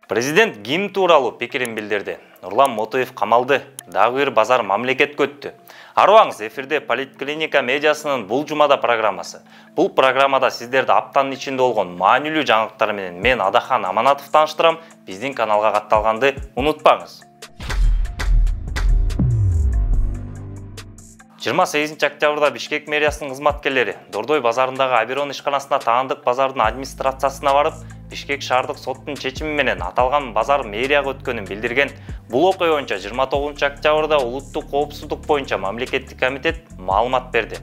Президент гимн тууралуу пикирин билдирди. Нурлан Мотоев камалды, дагы бир базар мамлекетке өттү. Арыбаңыз, эфирде Политклиника медиасынын бул жумада программасы. Бул программада сиздерди аптанын ичинде болгон маанилүү жаңылыктар менен мен Адахан Аманатов тааныштырам. Биздин каналга катталганды унутпаңыз. 28 октябрда Бишкек мэриясынын кызматкерлери Дордой базарындагы Аберон ишканасына таандык базардын администрациясына барып, Бишкек шаардык соттун чечими менен аталган базар мэрияга өткөнүн билдирген. Бул окуя боюнча 29 октябрда улуттук коопсуздук боюнча мамлекеттик комитет маалымат берди.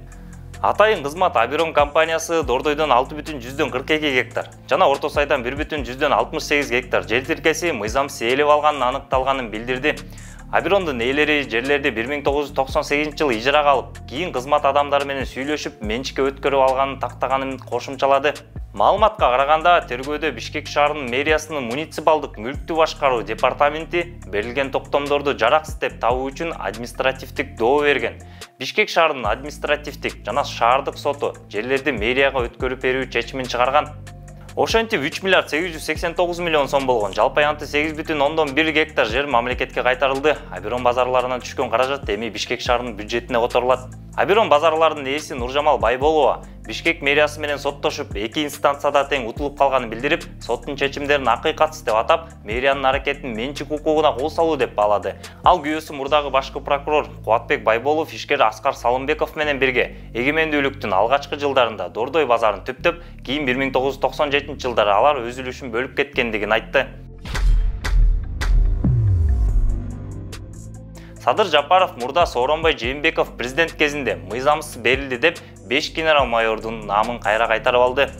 Атайын кызмат Аберон компаниясы Дордойдон 6,42 гектар жана Орто Сайдан 1,68 гектар жер тиркеси мыйзамсыз ээлеп алганын аныкталганын билдирди. Аберондун ээлери жерлерди 1998-жылы ижарага алып, кийин кызмат адамдары менен сүйлөшүп, менчикке өткөрүп алганын тактаганын кошумчалады. Маалыматка караганда, тергөөдө Бишкек шаарынын мэриясынын муниципалдык мүлктү башкаруу департаменти берилген токтомдорду жараксыз деп табуу үчүн административдик доо берген. Бишкек шаарынын административдик жана шаардык соту жерлерди мэрияга өткөрүп берүү чечимин чыгарган. Ошентип 3 миллиард 889 миллион сом болгон жалпы аянты 8,1 гектар жер мамлекетке кайтарылды. Аберон базарларынан түшкөн каражат эми Бишкек шаарынын бюджетине которулат. Аберон базарларынын ээси Нуржамал Байболова Бишкек мэриясы менен соттошуп, эки инстанцияда тең утулуп калганын билдирип, соттун чечимдерин акыйкатсыз деп атап, мэриянын аракетин менчик укугуна кол салуу деп баалады. Ал күйөөсү мурдагы башкы прокурор Кубатбек Байболов ишкер Аскар Салымбеков менен бирге эгемендүүлүктүн алгачкы жылдарында Дордой базарын түптөп, кийин 1997-жылдары алар өз үлүшүн бөлүп кеткендигин айтты. Садыр Жапаров мурда Сооронбай Жээнбеков президент кезинде мыйзамсыз берилди деп 5 генерал-майордун намын кайра кайтарып алды.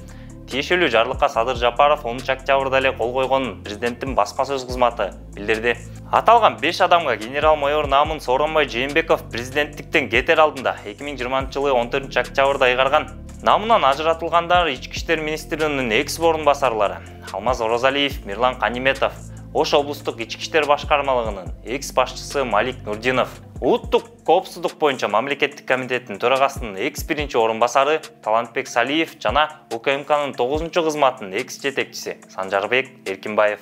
Тиешелүү жарлыкка Садыр Жапаров 10 октябрда эле кол койгонун президенттин басма сөз кызматы билдирди. Аталган 5 адамга генерал-майор намын Сооронбай Жээнбеков президенттиктен кетер алдында 2020-жылы 14 октябрда ыйгарган. Намынан ажыратылгандар Ички иштер министринин экс-орун басарлары Алмаз Оразалиев, Мирлан Каниметов, Ош облустук ички иштер башкармалыгынын экс-башчысы Малик Нурдинов, улуттук коопсуздук боюнча мамлекеттик комитеттин төрагасынын экс-биринчи орун басары Талантбек Салиев жана УКМКнын 9-кызматынын экс-жетекчиси Санжарбек Эркинбаев.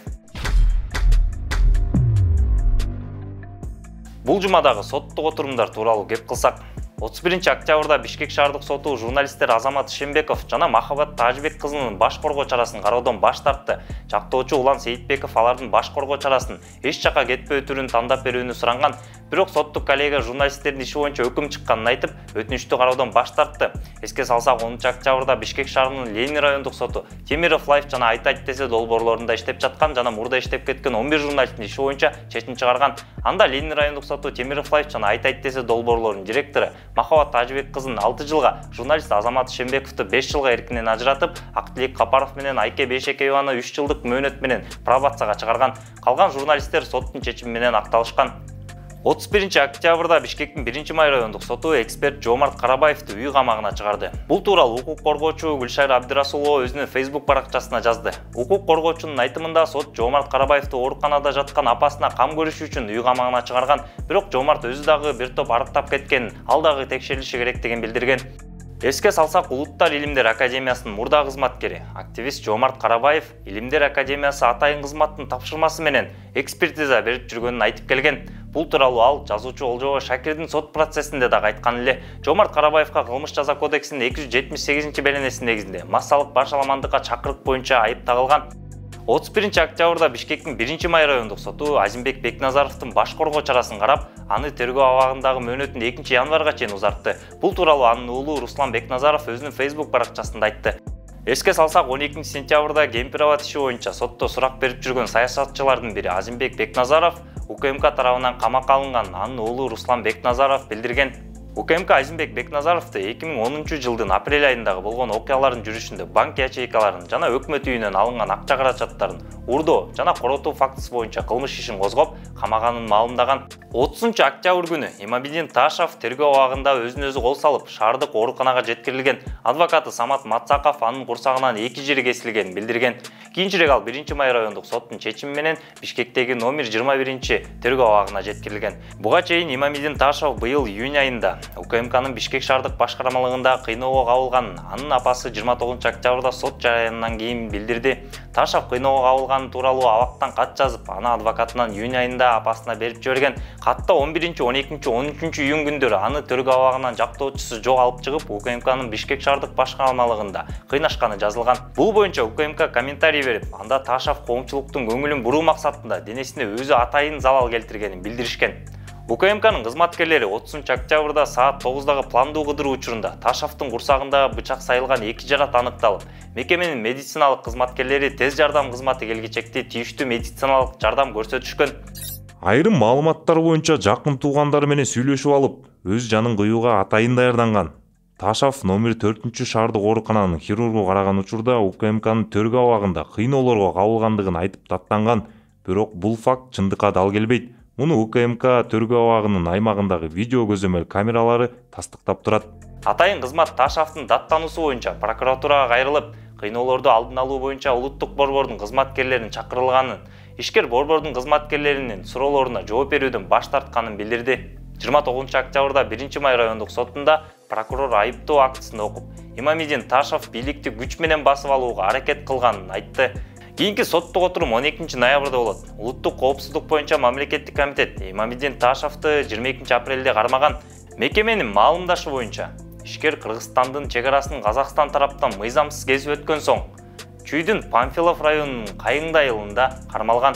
Бул жумадагы соттук отурумдар тууралуу кеп кылсак, 31 октябрда Бишкек шаардык соту журналисттер Азамат Шембеков жана Махабат Тажбек кызынын баш коргоо чарасын кароодон баш тартты. Чактоочу Улан Сейитбеков алардын баш коргоо чарасын эч жака кетпөө түрүн тандап берүүнү суранган, бирок соттук коллега журналисттердин иши боюнча өкүм чыкканын айтып, өтүнүштү кароодон баш тартты. Эске салсак, 10 октябрда Бишкек шаарынын Ленин райондук соту Темиров Лайф жана Айтайт десе долбоорлорунда иштеп жаткан жана мурда иштеп кеткен 11 журналисттин иши боюнча чечим чыгарган. Анда Ленин райондук соту Темиров Лайф жана Айтайт десе долбоорлорунун директору Махабат Тажбек кызын 6 жылга, журналист Азамат Шембековду 5 жылга эркинен ажыратып, Актилек Капаров менен Айке Бейшекееваны 3 жылдык мөөнөт менен пробацияга чыгарган. Калган журналисттер соттун чечими менен акталышкан. 31 октябрда Бишкектин 1-май райондук соту эксперт Жомарт Карабаевди үй камагына чыгарды. Бул тууралуу укук коргоочу Гүлшайыр Абдирасулова өзүнүн Facebook баракчасына жазды. Укук коргоочунун айтымында сот Жомарт Карабаевди ооруканада жаткан апасына кам көрүш үчүн үй камагына чыгарган, бирок Жомарт өзү дагы бир топ арыктап кеткенин, ал дагы текшерилиши керектигин билдирген. Эске салсак, Улуттар Илимдер Академиясынын мурда кызматкери, активист Жомарт Карабаев Илимдер Академиясы атайын кызматтын тапшырмасы менен экспертиза берип жүргөнүн айтып келген. Бул тууралуу ал жазуучу Олжобой Шакирдин сот процессинде дагы айткан эле. Жомарт Карабаевка кылмыш жаза кодексинин 278-беренеси негизинде массалык башаламандыкка чакырык боюнча айып тагылган. 31 октябрда Бишкектин 1-май райондук соту Азимбек Бекназаровдун баш коргоо чарасын карап, аны тергөө абагындагы мөөнөтүн 2-январга чейин узартты. Бул тууралуу анын уулу Руслан Бекназаров өзүнүн Facebook баракчасында айтты. Эске салсак, 12 сентябрда Кемпироват иши боюнча сотто сурак берип жүргөн саясатчылардын бири Азимбек Бекназаров УКМК тарабынан камакка алынган, анын уулу Руслан Бекназаров билдирген. УКМК Азимбек Бекназаровду 2010-жылдын апрель айындагы болгон окуялардын жүрүшүндө банк ячейкаларын жана өкмөт үйүнөн алынган акча каражаттарын урдоо жана коротуу фактысы боюнча кылмыш ишин козгоп, камаганын маалымдаган. 30 октябрь күнү Имамидин Ташов тергөө абагында өзүн өзү кол салып, шаардык ооруканага жеткирилген. Адвокаты Самат Матсаков анын курсагынан 2 жери кесилгенин билдирген. Кийинчерээк ал 1-май райондук соттун чечими менен Бишкектеги номер 21 тергөө абагына жеткирилген. Буга чейин Имамидин Ташов быйыл июнь айында УКМКнын Бишкек шаардык башкармалыгында кыйноого кабылган анын апасы 29 октябрда сот жарыяндан кийин билдирди. Ташов кыйноого кабылганы тууралуу абактан кат жазып, аны адвокатынан июнь айында апасына берип жиберген. Катта 11, 12, 13 июнь күндөрү аны төргө абагынан жактоочусу жок алып чыгып, УКМКнын Бишкек шаардык башкармалыгында кыйнашканы жазылган. Бул боюнча УКМК комментарий берип, анда Ташов коомчулуктун көңүлүн буруу максатында денесине өзү атайын залал келтиргенин билдиришкен. УКМКнын кызматкерлери 30 октябрда саат 9дагы пландуу кыдыруу учурунда Ташовдун курсагындагы бычак сайылган 2 жарат аныкталып, мекеменин медициналык кызматкерлери тез жардам кызматы келгичекти тийиштүү медициналык жардам көрсөтүшкөн. Айрым маалыматтар боюнча жакын туугандары менен сүйлөшүп алып, өз жанын кыюуга атайын даярданган. Ташов номер 4 шаардык оорукананын хирургу караган учурда УКМКнын төргө абагында кыйноолорго кабылгандыгын айтып даттанган, бирок бул факт чындыкка дал келбейт. Муну УКМК төргө абагынын аймагындагы видео көзөмөл камералары тастыктап турат. Атайын кызмат Ташовдун даттануусу боюнча прокуратурага кайрылып, кыйноолорду алдын алуу боюнча улуттук борбордун кызматкерлерин чакырылганын, ишкер борбордун кызматкерлеринин суроолоруна жооп берүүдөн баш тартканын билдирди. 29 октябрда 1-Май райондук сотунда прокурор айыптоо актысын окуп, Имамидин Ташов бийликти күч менен басып алууга аракет кылганын айтты. Кийинки соттук отурум 12 ноябрда болот. Улуттук коопсуздук боюнча мамлекеттик комитет Имамидин Ташовду 22 апрелде кармаган. Мекеменин маалымдашы боюнча, ишкер Кыргызстандын чегарасын Казакстан тараптан мыйзамсыз кесип өткөн соң, Чүйдүн Памфилов районунун Кайыңды айылында кармалган.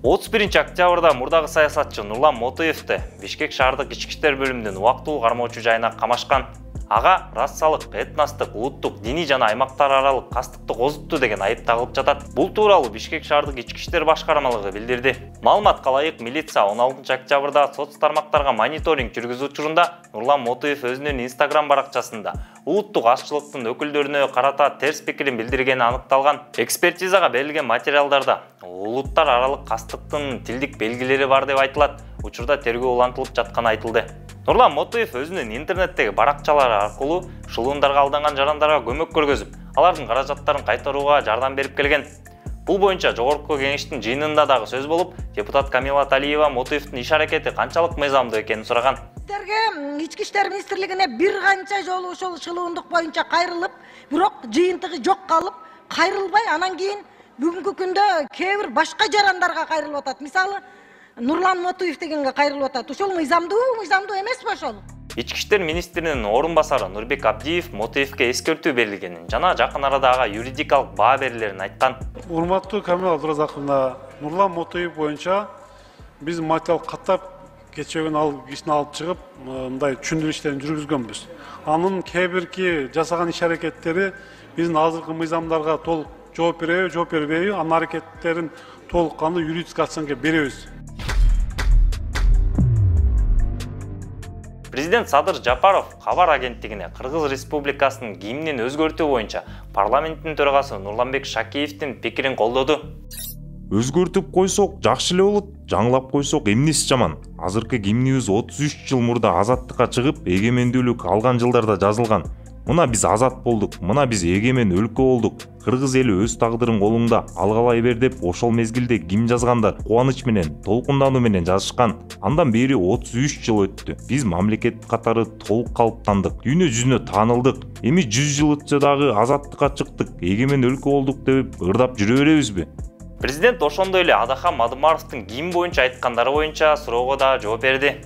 31 октябрда мурдагы саясатчы Нурлан Мотоевди Бишкек шаардык ички иштер бөлүмүнүн убактылуу кармоочу жайына камашкан. Ага расалык, этностук, улуттук, диний жана аймактар аралык кастыкты козутту деген айып тагылып жатат. Бул тууралуу Бишкек шаардык ички иштер башкармалыгы билдирди. Маалымат калайык, милиция 16 октябрда соц тармактарга мониторинг жүргүзүү учурунда Нурлан Мотоев өзүнүн Instagram баракчасында улуттук азчылыктын өкүлдөрүнө карата терс пикирин билдиргени аныкталган. Экспертизага берилген материалдарда улуттар аралык кастыктын тилдик белгилери бар деп айтылат. Учурда тергөө улантылып жатканы айтылды. Нурлан Мотоев өзүнүн интернеттеги баракчалары аркылуу шылуундарға алданган жарандарга көмөк көргөзүп, алардын каражаттарын кайтарууга жардам берип келген. Бул боюнча жогорку кеңештин жыйынында дагы сөз болуп, депутат Камила Талиева Мотоевдин иш аракети канчалык мыйзамдуу экенин сураган. Ички иштер министрлигине бир канча жолу ошол шылуундук боюнча кайрылып, бирок жыйынтыгы жок калып, кайрылбай, анан кийин бүгүнкү күндө кээ бир башка жарандарга кайрылып атат. Мисалы, Нурлан Мотоев дегенге кайрылып атат. Ошол мыйзамдуу эмеспи ошол? Ички иштер министринин орун басары Нурбек Абдиев Мотоевге эскертүү берилгенин жана жакын арада ага юридикалык баа берилерин айткан. Урматтуу Камила Абдуразаковна, Нурлан Мотоев боюнча биз материал каттап кечээ күнү кишини алып чыгып, мындай түшүндүрүү иштерин жүргүзгөнбүз. Анын кээ бирки жасаган иш аракеттери биздин азыркы мыйзамдарга толук жооп береби, жооп бербейби, анын аракеттерин толук кандуу юридический оценка беребиз. Президент Садыр Жапаров Кабар агенттигине Кыргыз Республикасынын гимнин өзгөртүү боюнча парламенттин төрагасы Нурланбек Шакиевдин пикирин колдоду. Өзгөртүп койсок жакшы эле болот, жаңылап койсок эмнеси жаман. Азыркы гимнибиз 33 жыл мурда азаттыкка чыгып, эгемендүүлүк алган жылдарда жазылган. Мына биз азат болдук, мына биз эгемен өлкө болдук. Кыргыз эли өз тагдырын колуңда алгалай бер деп ошол мезгилде гимн жазгандар кубаныч менен, толкундануу менен жазышкан. Андан бери 33 жыл өттү. Биз мамлекет катары толук калыптандык, дүйнө жүзүнө таанылдык. Эми 100 жыл өтсө дагы азаттыкка чыктык, эгемен өлкө болдук деп ырдап жүрө беребизби? Президент ошондой эле Адахан Мадымаровдун гимн боюнча айткандары боюнча суроого да жооп берди.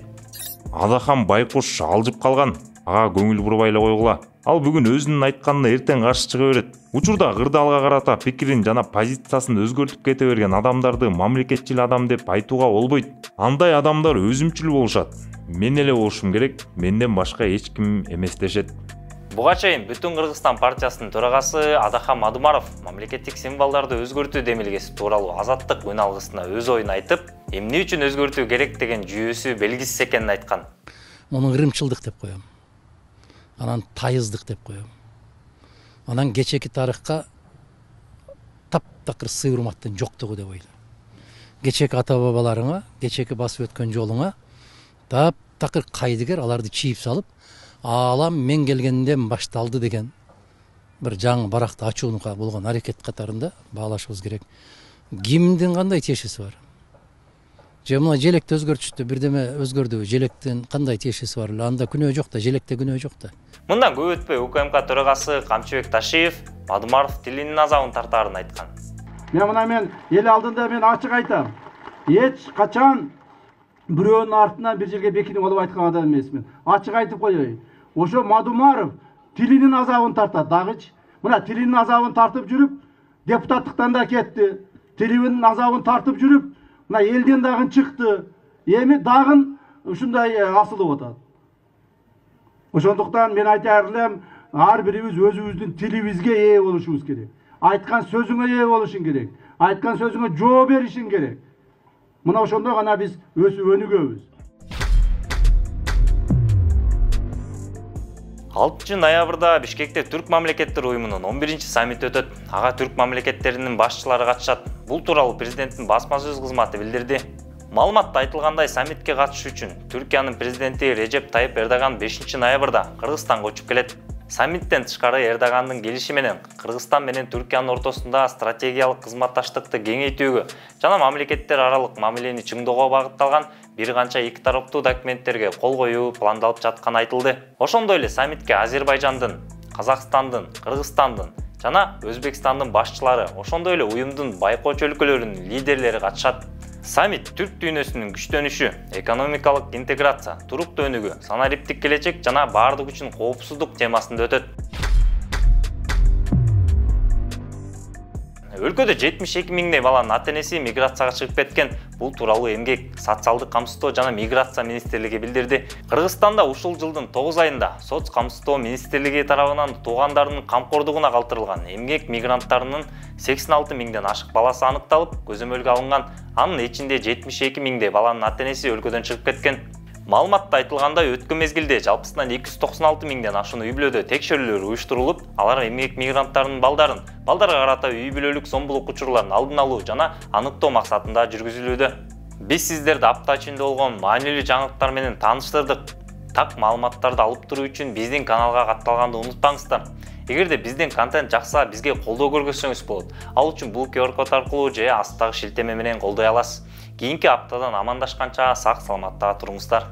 Адахан байкош алжып калган. Ага көңүл бурбай эле койгула. Ал бүгүн өзүнүн айтканына эртең каршы чыга берет. Учурда кырдаалга карата пикирин жана позициясын өзгөртүп кете берген адамдарды мамлекетчил адам деп айтууга болбойт. Андай адамдар өзүмчүл болушат. Мен эле болушум керек, менден башка эч ким эмес дешет. Буга чейин Бүтүн Кыргызстан партиясынын төрагасы Адахан Мадымаров мамлекеттик символдорду өзгөртүү демилгеси тууралуу Азаттык үн алгысына өз оюн айтып, эмне үчүн өзгөртүү керек деген жүйөсү белгисиз экенин айткан. Муну ырымчылдык деп коем. Анан тайыздык деп коем. Анан кечеки тарыхка таптакыр сый урматтын жоктугу деп ойлойм. Кечеки ата бабаларыңа, кечеки басып өткөн жолуңа таптакыр кайдыгер аларды чийип салып, алам мен келгенден башталды деген бир жаңы баракты ачуунга болгон аракет катарында баалашыбыз керек. Гимндин кандай тиешеси бар? же мына желекти өзгөртүштү, бирдеме өзгөрдүбү, желектин кандай тиешеси бар эле, анда күнөө жок да, желекте күнөө жок да. Мындан көп өтпөй УКМК төрагасы Камчыбек Ташиев Мадумаров тилинин азабын тартаарын айткан. Мен эл алдында мен ачык айтам. Эч качан бирөөнүн артынан бир жерге бекинип алып айткан адам эмесмин. Ачык айтып коеюн. Ошо Мадумаров тилинин азабын тартат дагычы. Мына тилинин азабын тартып жүрүп, депутаттыктан да кетти. Тилинин азабын тартып жүрүп, мына элден дагы чыкты. Эми дагы ушундай асылып атат. Ошондуктан мен айтар элем, ар бирибиз өзүбүздүн тилибизге ээ болушубуз керек. Айткан сөзүңө ээ болушуң керек. Айткан сөзүңө жооп беришиң керек. Мына ошондо гана биз өсүп өнүгөбүз. 6 ноябрда Бишкекте Түрк мамлекеттер уюмунун 11-чи саммити өтөт. Ага түрк мамлекеттеринин башчылары катышат. Бул тууралуу президенттин басма сөз кызматы билдирди. Маалыматта айтылгандай, саммитке катышуу үчүн Түркиянын президенти Режеп Тайып Эрдоган 5 ноябрда Кыргызстанга учуп келет. Саммиттен тышкары Эрдогандын келиши менен Кыргызстан менен Түркиянын ортосунда стратегиялык кызматташтыкты кеңейтүүгө жана мамлекеттер аралык мамилени чыңдоого багытталган бир канча эки тараптуу документтерге кол коюу пландалып жатканы айтылды. Ошондой эле саммитке Азербайжандын, Казакстандын, Кыргызстандын жана Өзбекстандын башчылары, ошондой эле уюмдун байкоочу өлкөлөрүнүн лидерлери катышат. Саммит түрк дүйнөсүнүн күчтөнүшү, экономикалык интеграция, туруктуу өнүгүү, санариптик келечек жана баардык үчүн коопсуздук темасында өтөт. Өлкөдө 72 миңдей баланын ата-энеси миграцияга чыгып кеткен. Бул тууралуу Эмгек, социалдык камсыздоо жана миграция министрлиги билдирди. Кыргызстанда ушул жылдын 9 айында Соц камсыздоо министрлиги тарабынан туугандарынын камкордугуна калтырылган эмгек мигранттарынын 86 миңден ашык баласы аныкталып, көзөмөлгө алынган. Анын ичинде 72 миңдей баланын ата-энеси өлкөдөн чыгып кеткен. Маалыматта айтылгандай, өткөн мезгилде жалпысынан 296 миңден ашуун үй-бүлөдө текшерүүлөр уюштурулуп, алар эмгек мигранттарынын балдарга карата үй-бүлөлүк зомбулук учурларын алдын алуу жана аныктоо максатында жүргүзүлүүдө. Биз сиздерди апта ичинде болгон маанилүү жаңылыктар менен тааныштырдык. Так маалыматтарды алып туруу үчүн биздин каналга катталганды унутпаңыздар. Эгерде биздин контент жакса, бизге колдоо көргөзсөңүз болот. Ал үчүн бул QR код аркылуу же астагы шилтеме менен колдой аласыз. Кийинки аптадан амандашканча сак саламатта туруңуздар.